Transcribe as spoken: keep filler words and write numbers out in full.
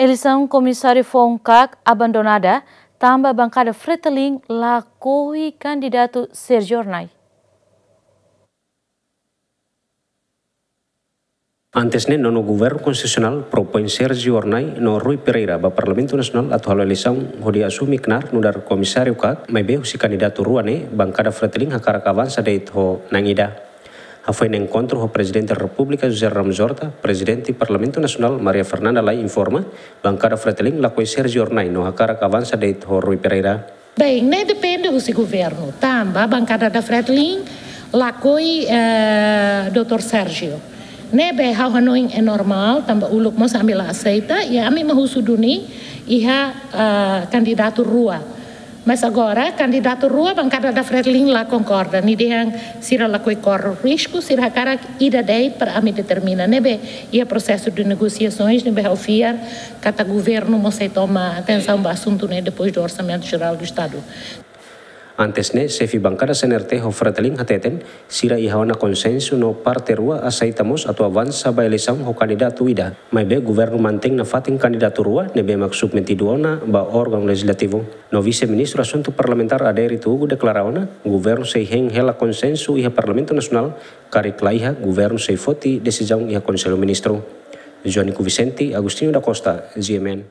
Eleisaun komisáriu foun CAC abandonada, tanba bankada Fretilin lakohi kandidatu Sérgio Hornai. Antes ne'e, nonu Governu Konstitusionál propoin Sérgio Hornai no Rui Pereira ba Parlamentu Nasionál atu halo eleisaun hodi asume knaar nu'udar komisáriu CAC, maibé husi kandidatu rua ne'e, bankada Fretilin hakarak avansa de'it ho na'in ida. Hafoin enkontru ho Prezidente Repúblika José Ramos Horta, Prezidente Parlamentu Nasionál Maria Fernanda Lay informa, bankada Fretilin lakohi Sérgio Hornai no hakarak avansa de'it ho Rui Pereira. Bem, ne'e depende husi governu. Tanba bankada da Fretilin lakohi, eh, doutór Sérgio. Ne'ebé ha'u hanoin é normál, tanba uluk mós ami la aseita, i ami mak husu duni iha, eh, kandidatu rua. Mas agora, kandidatu rua, bankada da Fretilin la konkorda. Nia dehan sira lakohi kór risku, sira hakarak ida de'it para ami determina. Ne'ebé iha prosesu de negosiasoens, ne'ebé ha'u fiar katak governu mós sei toma atensaun ba asuntu ne'e depois do Orçamento Geral do Estado. Antes ne'e, xefe bankada C N R T ho Fretilin hateten, sira iha ona konsensu no parte rua aseita mós atu avansa ba eleisaun ho kandidatu ida. Maibé governu mantein nafatin kandidatu rua ne'ebé mak submetidu ona ba órgaun lejizlativu. No Vise-Ministru Asuntu Parlamentár Adérito Hugo deklara ona, governu sei hein hela konsensu iha Parlamentu Nasionál, karik la iha, governu sei foti desizaun iha Konsellu Ministru. Joanico Vicente, Agostinho da Costa, G M N.